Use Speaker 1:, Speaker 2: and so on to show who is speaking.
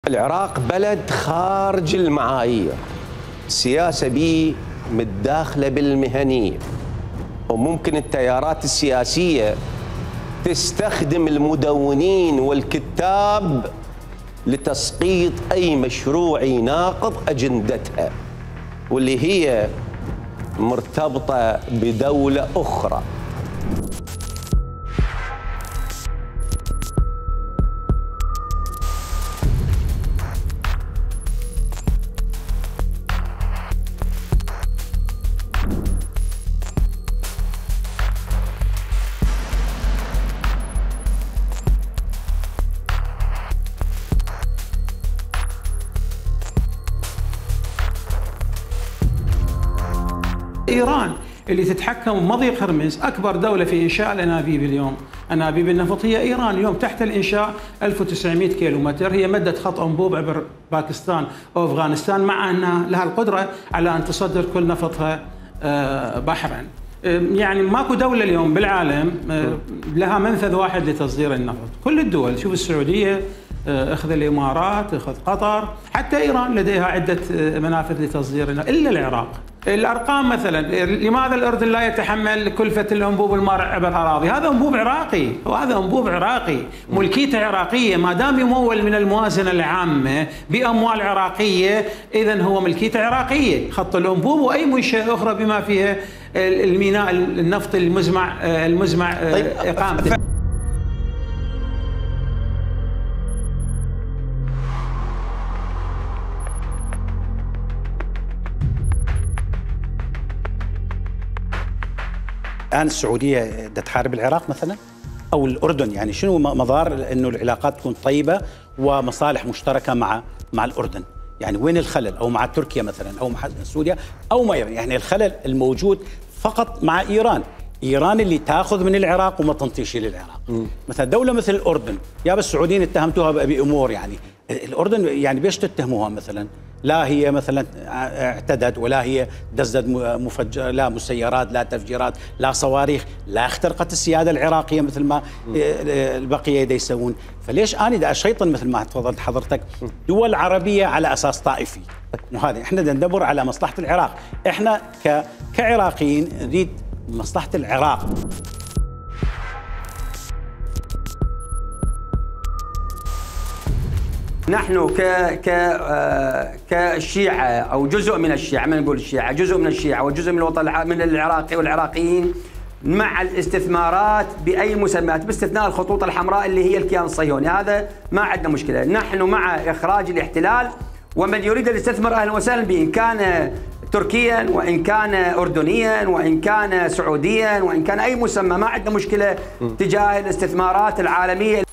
Speaker 1: العراق بلد خارج المعايير، السياسة بيه متداخلة بالمهنية، وممكن التيارات السياسية تستخدم المدونين والكتاب لتسقيط أي مشروع يناقض أجندتها واللي هي مرتبطة بدولة أخرى.
Speaker 2: إيران اللي تتحكم بمضيق هرمز، أكبر دولة في إنشاء الأنابيب اليوم، أنابيب النفط هي إيران. اليوم تحت الإنشاء 1900 كيلومتر، هي مدت خط أنبوب عبر باكستان وأفغانستان، مع أنها لها القدرة على أن تصدر كل نفطها بحرا. يعني ماكو دولة اليوم بالعالم لها منفذ واحد لتصدير النفط. كل الدول، شوف السعودية، اخذ الامارات، اخذ قطر، حتى ايران لديها عده منافذ لتصدير النفط، الا العراق. الارقام مثلا، لماذا الاردن لا يتحمل كلفه الانبوب المارع عبر اراضي؟ هذا انبوب عراقي، وهذا انبوب عراقي، ملكيته عراقيه، ما دام يمول من الموازنه العامه باموال عراقيه اذا هو ملكيته عراقيه. خط الانبوب واي منشاه اخرى بما فيها الميناء النفطي المزمع اقامته.
Speaker 3: الآن السعودية تحارب العراق مثلا أو الأردن، يعني شنو مظاهر أنه العلاقات تكون طيبة ومصالح مشتركة مع الأردن؟ يعني وين الخلل؟ أو مع تركيا مثلا أو مع سوريا أو ما يعني الخلل الموجود فقط مع إيران. إيران اللي تأخذ من العراق وما تنطيش للعراق. مثلا دولة مثل الأردن، يا بس السعوديين اتهمتوها بأمور، يعني الأردن يعني بيش تتهموها مثلا؟ لا هي مثلا اعتدت، ولا هي دزت مفجر، لا مسيرات، لا تفجيرات، لا صواريخ، لا اخترقت السيادة العراقية مثل ما البقية دا يسوون. فليش أنا دا أشيطن مثل ما تفضلت حضرتك دول عربية على أساس طائفي؟ وهذا احنا دا ندبر على مصلحة العراق، احنا كعراقيين نريد مصلحة العراق.
Speaker 4: نحن كالشيعة أو جزء من الشيعة، ما نقول الشيعة، جزء من الشيعة وجزء من الوطن من العراقي والعراقيين مع الاستثمارات بأي مسميات باستثناء الخطوط الحمراء اللي هي الكيان الصهيوني، هذا ما عندنا مشكلة. نحن مع إخراج الاحتلال، ومن يريد أن يستثمر أهلا وسهلا به، إن كان تركيا وإن كان أردنيا وإن كان سعوديا وإن كان أي مسمى، ما عندنا مشكلة تجاه الاستثمارات العالمية.